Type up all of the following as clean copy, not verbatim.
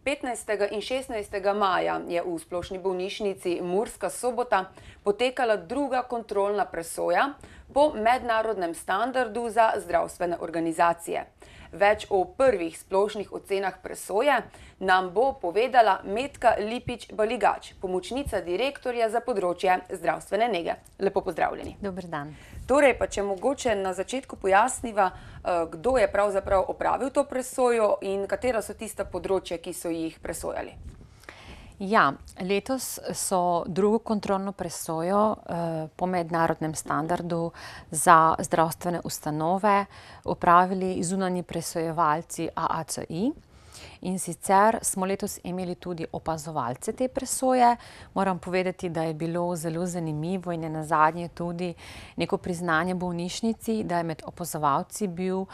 15. in 16. maja je v Splošni bolnišnici Murska Sobota potekala druga kontrolna presoja po mednarodnem standardu za zdravstvene organizacije. Več o prvih splošnih ocenah presoje nam bo povedala Metka Lipič-Baligač, pomočnica direktorja za področje zdravstvene nege. Lepo pozdravljeni. Dober dan. Torej, pa če mogoče na začetku pojasniva, kdo je pravzaprav opravil to presojo in katera so tista področja, ki so jih presojali. Ja, letos so drugo kontrolno presojo po mednarodnem standardu za zdravstvene ustanove opravili zunanji presojevalci AACI. In sicer smo letos imeli tudi opazovalce te presoje. Moram povedati, da je bilo zelo zanimivo in nenazadnje tudi neko priznanje bolnišnici, da je med opazovalci bil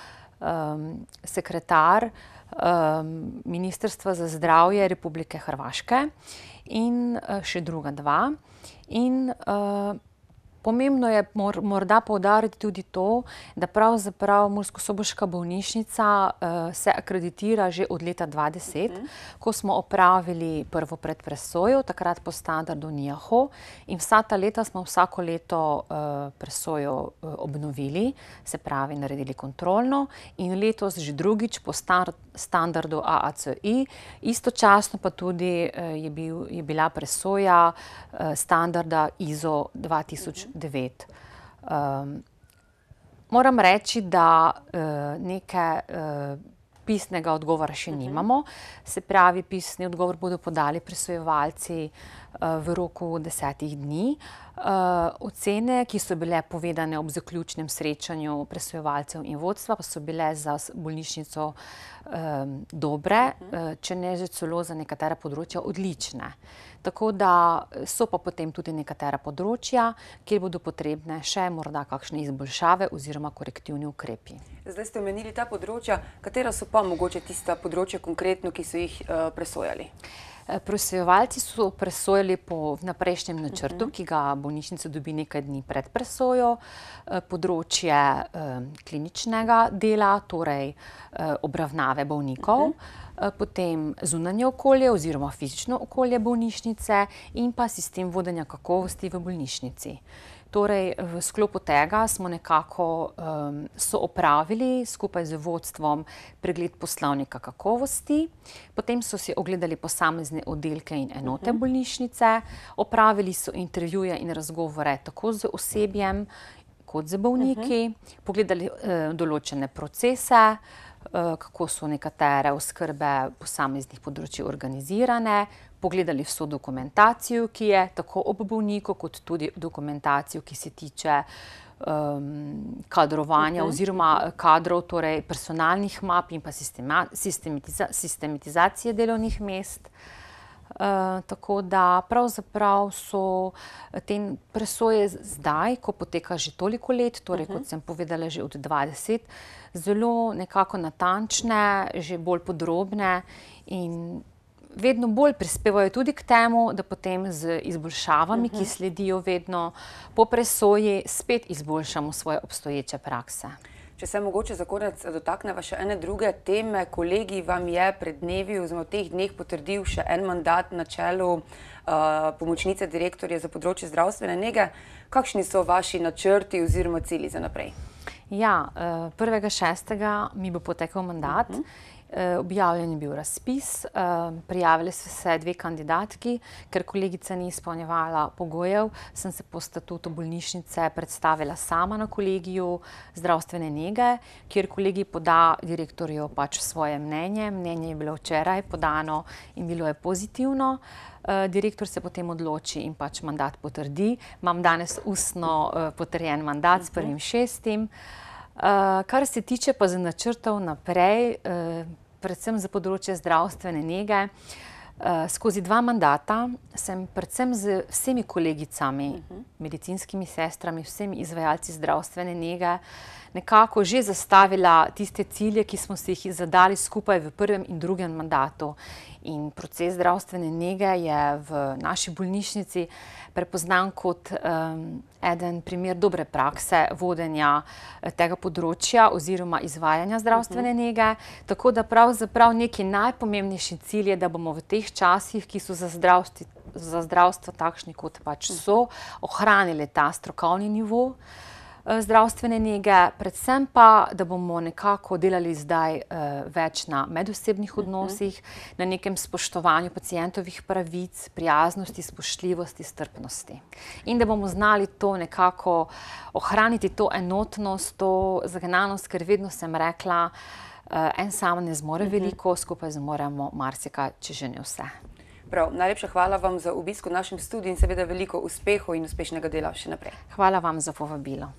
sekretar Ministrstva za zdravje Republike Hrvaške in še druga dva. In pomembno je morda poudariti tudi to, da pravzaprav Murskosoboška bolnišnica se akreditira že od leta 2010, ko smo opravili prvo predpresojo, takrat po standardu NIAHO, in vsa ta leta smo vsako leto presojo obnovili, se pravi naredili kontrolno, in letos že drugič po standardu AACI, istočasno pa tudi je bila presoja standarda ISO 2009. Moram reči, da neke pisnega odgovora še nimamo. Se pravi, pisni odgovor bodo podali presojevalci v roku 10 dni. Ocene, ki so bile povedane ob zaključnem srečanju presojevalcev in vodstva, pa so bile za bolnišnico dobre, če ne že celo za nekatera področja odlične. Tako da so pa potem tudi nekatera področja, kjer bodo potrebne še morda kakšne izboljšave oziroma korektivni ukrepi. Zdaj ste omenili ta področja, katera so pa mogoče tista področja konkretno, ki so jih presojali? Presojevalci so presojali po vnaprejšnjem načrtu, ki ga bolnišnica dobi nekaj dni pred presojo, področje kliničnega dela, torej obravnave bolnikov, potem zunanje okolje oziroma fizično okolje bolnišnice in pa sistem vodenja kakovosti v bolnišnici. Torej, v sklopu tega smo nekako opravili skupaj z vodstvom pregled poslovnika kakovosti, potem so si ogledali posamezne oddelke in enote bolnišnice, opravili so intervjuje in razgovore tako z osebjem kot z bolniki, pogledali določene procese, kako so nekatere oskrbe posameznih področij organizirane, pogledali vso dokumentacijo, ki je tako ob bolniku, kot tudi dokumentacijo, ki se tiče kadrovanja oziroma kadrov, torej personalnih map in pa sistematizacije delovnih mest. Tako da pravzaprav so te presoje zdaj, ko poteka že toliko let, torej kot sem povedala že od 20, zelo nekako natančne, že bolj podrobne in vedno bolj prispevajo tudi k temu, da potem z izboljšavami, ki sledijo vedno po presoji, spet izboljšamo svoje obstoječe prakse. Če se mogoče za konec dotakneva še ene druge teme, kolegi vam je pred dnevi oziroma v teh dneh potrdil še en mandat na čelu pomočnice direktorja za področje zdravstvene nege. Kakšni so vaši načrti oziroma cilji za naprej? Ja, 1.6. mi bo potekel mandat. Objavljen je bil razpis, prijavili so se dve kandidatki, ker kolegica ni izpolnjevala pogojev, sem se po statutu bolnišnice predstavila sama na kolegiju zdravstvene nege, kjer kolegij poda direktorju pač svoje mnenje. Mnenje je bilo včeraj podano in bilo je pozitivno. Direktor se potem odloči in pač mandat potrdi. Imam danes ustno potrjen mandat s 1.6. Kar se tiče pa za načrtov naprej, predvsem za področje zdravstvene nege, skozi 2 mandata sem predvsem z vsemi kolegicami, medicinskimi sestrami, vsemi izvajalci zdravstvene nege, nekako že zastavila tiste cilje, ki smo si jih zadali skupaj v prvem in drugem mandatu. In proces zdravstvene nege je v naši bolnišnici prepoznan kot eden primer dobre prakse vodenja tega področja oziroma izvajanja zdravstvene nege. Tako da pravzaprav neki najpomembnejši cilj je, da bomo v teh časih, ki so za zdravstvo takšni, kot pač so, ohranili ta strokovni nivo zdravstvene nege, predvsem pa, da bomo nekako delali zdaj več na medosebnih odnosih, na nekem spoštovanju pacientovih pravic, prijaznosti, spoštljivosti, strpnosti. In da bomo znali to nekako ohraniti, to enotnost, to zagnanost, ker vedno sem rekla, en sam ne zmore veliko, skupaj zmoremo marsikaj, če že ne vse. Prav, najlepša hvala vam za obisk v našem studiu in seveda veliko uspehov in uspešnega dela še naprej. Hvala vam za povabilo.